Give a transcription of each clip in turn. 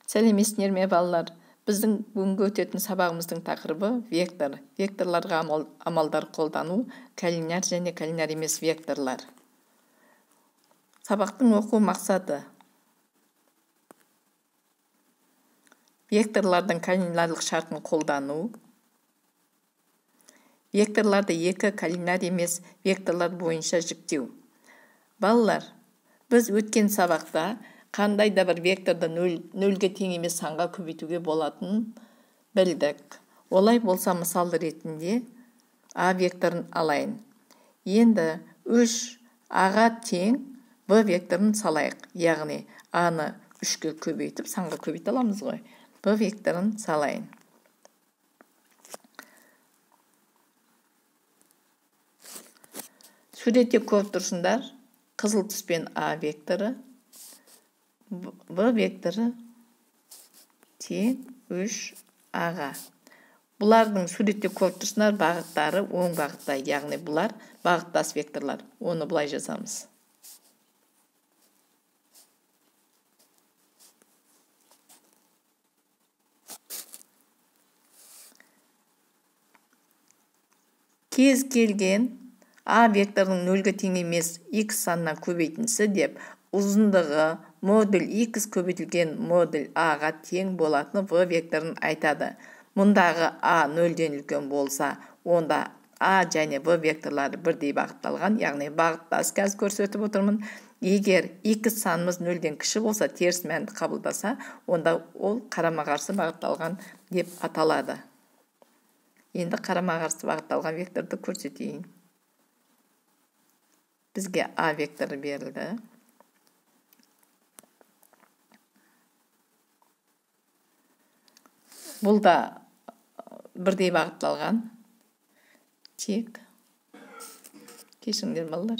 Сәлеметсіздер ме балалар? Біздің бүгінгі өтетін сабағымыздың тақырыбы вектор. Векторларға амалдар қолдану, коллинар және коллинар емес векторлар. Сабақтың оқу мақсаты: векторлардың коллинарлық шартын қолдану, векторларды екі коллинар емес векторлар бойынша жіктеу. Балалар, біз өткен сабақта қандай да бір векторды нөлге тең емес санға көбейтуге болатынын білдік. Олай болса, мысал ретінде А векторын алайын. Енді 3А-ға тең В векторын салайық. Яғни А-ны 3-ке көбейтіп, санға көбейте аламыз ғой. В векторын салайын. Суретте көріп тұрсыңдар, қызыл түспен А векторы, В векторы тең 3А-ға. Бұлардың суретте көріп тұрсыңдар бағыттары оң бағытта, яғни бұлар бағыттас векторлар. Оны бұлай жазамыз. Кез келген А векторының нөлге тең емес X санынан көбейтіндісі деп ұзындығы модуль X көбейтілген модуль А-ға тең болатын В векторын айтады. Мұндағы А нөлден үлкен болса, онда А және В векторлары бірдей бағытталған, яғни бағыттас. Қазір көрсетіп отырмын. Егер X санымыз нөлден кіші болса, теріс мәнді қабылдаса, онда ол қарама-қарсы бағытталған деп аталады. Енді қарама-қарсы бағытталған векторды көрсетейін. Бізге А векторы берілді. Бұл да бірдей бағытталған. Тек кешіңдер балалар.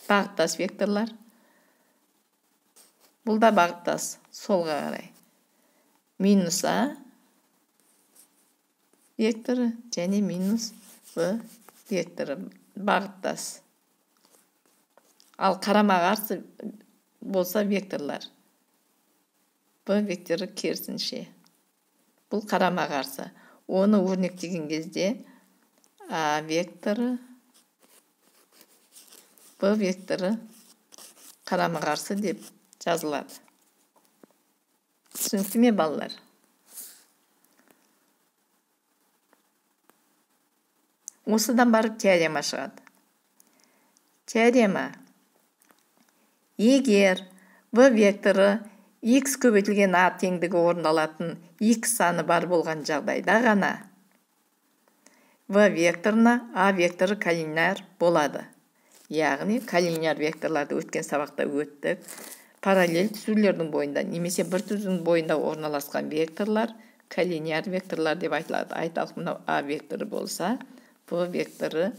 Бағыттас векторлар. Бұл да бағыттас, солға қарай. Минус А векторы және минус В векторы бағыттас. Ал қарама-қарсы болса векторлар. В векторы керісінше. Бұл қарама-қарсы. Оны өрнектеген кезде А векторы, В векторы қарама-қарсы деп жазылады. Түсінікті ме балалар? Осыдан барып теорема шығады. Теорема: егер В векторы X көбейтілген А теңдігі орындалатын X саны бар болған жағдайда ғана В векторына А векторы коллинар болады. Яғни коллинар векторларды өткен сабақта өттік. Параллель түзулердің бойында немесе бір түзудің бойында орналасқан векторлар коллинар векторлар деп айтылады. Айталық, мынау А векторы болса, В векторы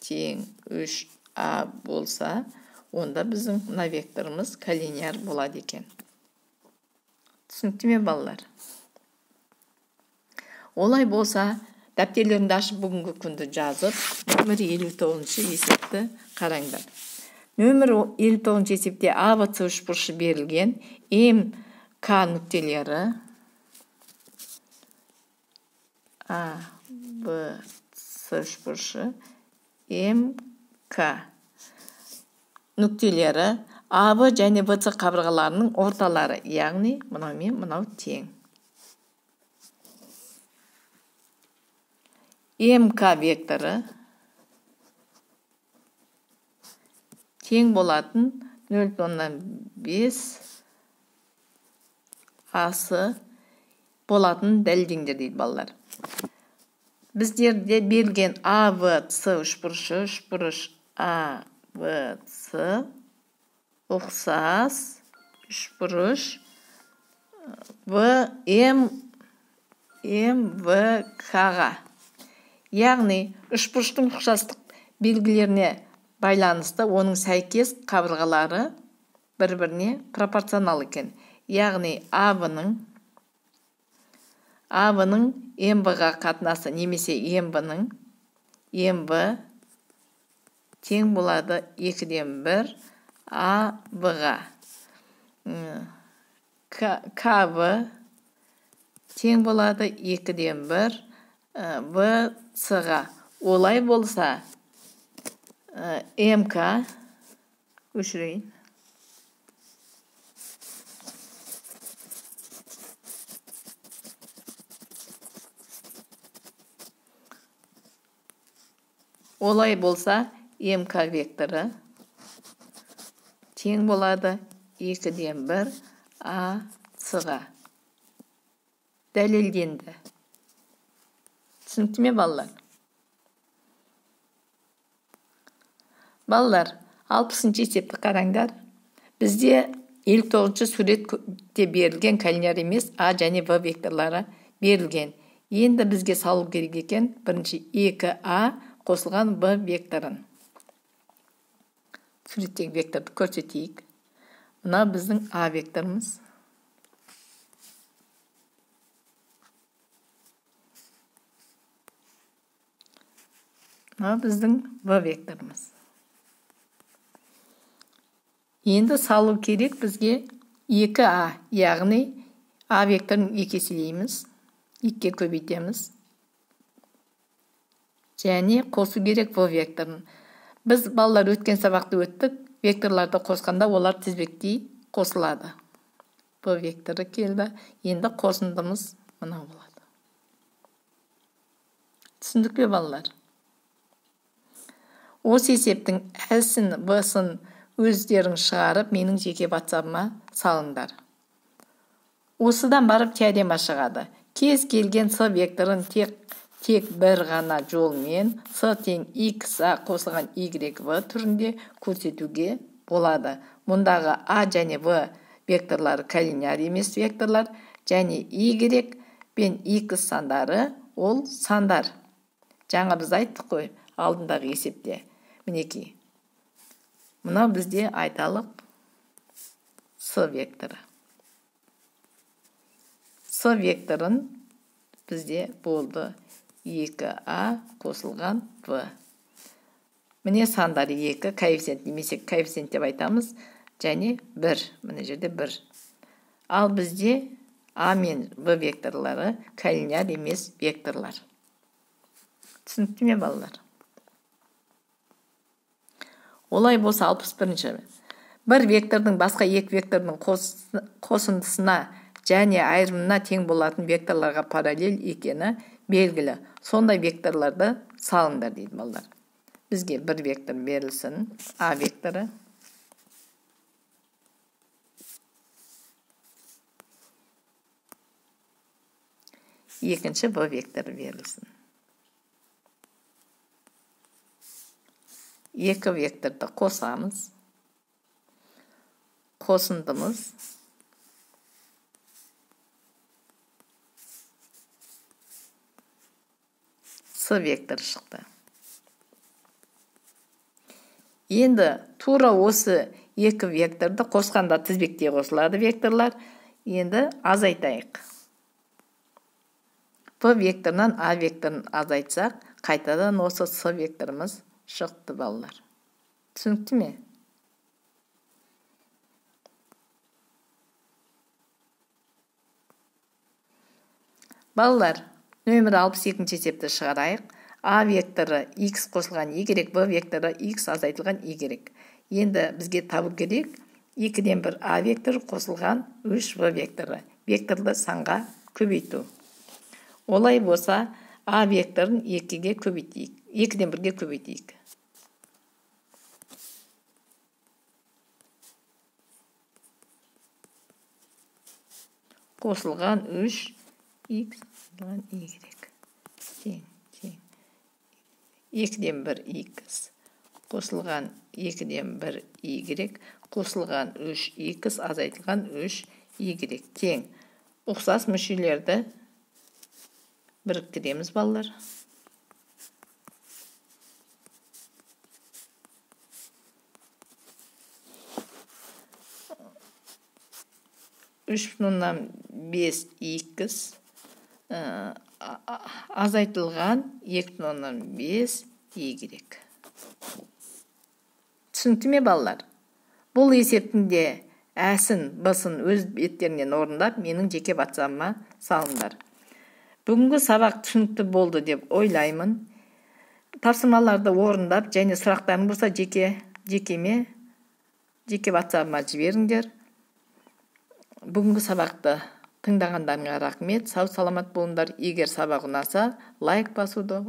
тең 3А болса, онда біздің мына векторымыз коллинар болады екен. Түсінікті ме балалар? Олай болса, дәптерлеріңді ашып бүгінгі күнді жазып, нөмір 59-шы есепті қараңдар. Нөмір 59-шы есепте АВС үшбұрышы берілген, МК нүктелері АВС үшбұрышы МК нүктелері АВ және ВС қабырғаларының орталары, яғни мынау мен мынау тең. МК векторы тең болатын 0,5 асы болатын дәлелдеңдер дейді балалар. Біздерде берілген АВС үшбұрышы, үшбұрыш АВС ұқсас үшбұрыш МВК-ға. Яғни үшбұрыштың ұқсастық белгілеріне байланысты оның сәйкес қабырғалары бір-біріне пропорционал екен. Яғни АВ-ның МВ-ға қатынасы немесе МВ-ның МВ тең болады 2-ден 1 А В-ға. КВ тең болады 2-ден 1 ВС-ға. Олай болса МК өшірейін. Олай болса МК векторы тең болады 2-ден 1 АС-ға. Дәлелденді. Түсінікті ме, балалар? Балалар, 60-шы есепті қараңдар. Бізде 59-шы суретте берілген коллинияр емес А және В векторлары берілген. Енді бізге салу керек екен бірінші 2А қосылған В векторын. Суреттегі векторды көрсетейік. Мына біздің А векторымыз. Мына біздің В векторымыз. Енді салу керек бізге 2А, яғни А векторын 2 еселейміз, 2-ге көбейтеміз. Және қосу керек В векторын. Біз балалар өткен сабақты өттік, векторларды қосқанда олар тізбектей қосылады. В векторы келді, енді қосындымыз мына болады. Түсіндік пе, балалар? Осы есептің С-ін, В-сын өздерің шығарып, менің жеке WhatsApp-ыма салыңдар. Осыдан барып теорема шығады. Кез келген С векторын тек бір ғана жолмен С тең XA қосылған YV түрінде көрсетуге болады. Мұндағы А және В векторлары коллинияр емес векторлар, және Y пен X сандары ол сандар. Жаңа біз айттық қой алдындағы есепте. Мінекей. Мына бізде айталық С векторы. С векторын бізде болды 2А қосылған В. Міне сандар 2, коэффициент немесе коэффициент деп айтамыз, және 1. Міне жерде 1. Ал бізде А мен В векторлары коллинияр емес векторлар. Түсінікті ме, балалар? Олай болса 61-ші. Бір вектордың басқа екі вектордың қосындысына және айырымына тең болатын векторларға параллель екені белгілі. Сондай векторларды салыңдар дейді балалар. Бізге бір вектор берілсін, А векторы. Екінші В векторы берілсін. Екі векторды қосамыз. Қосындымыз С вектор шықты. Енді тура осы екі векторды қосқанда тізбектей қосылады векторлар. Енді азайтайық. В векторынан А векторын азайтсақ, қайтадан осы С векторымыз шықты, балалар. Түсінікті ме? Балалар, нөмір 62-ші есепті шығарайық. А векторы X қосылған Y, В векторы X азайтылған Y. Енді бізге табу керек 2-ден 1 А векторы қосылған 3 В векторы. Векторды санға көбейту. Олай болса А векторын 2-ге көбейтейік. 2-ден 1-ге көбейтейік. Қосылған 3 X Y. Тең. 2-ден 1 X. Қосылған 2-ден 1 Y. Қосылған 3 X азайтылған 3 Y. Тең. Ұқсас мүшелерді біріктіреміз, балалар. Үш бүтін 5 X азайтылған 2,5 Y. Түсінікті ме, балалар? Бұл есептің де әсін, бысын өз беттерінен орындап, менің жеке WhatsApp-ыма салыңдар. Бүгінгі сабақ түсінікті болды деп ойлаймын. Тапсырмаларды орындап, және сұрақтарың болса жеке WhatsApp-ыма жіберіңдер. Бүгінгі сабақты тыңдағандарыңа рахмет. Сау саламат болыңдар. Егер сабақ ұнаса, лайк басуды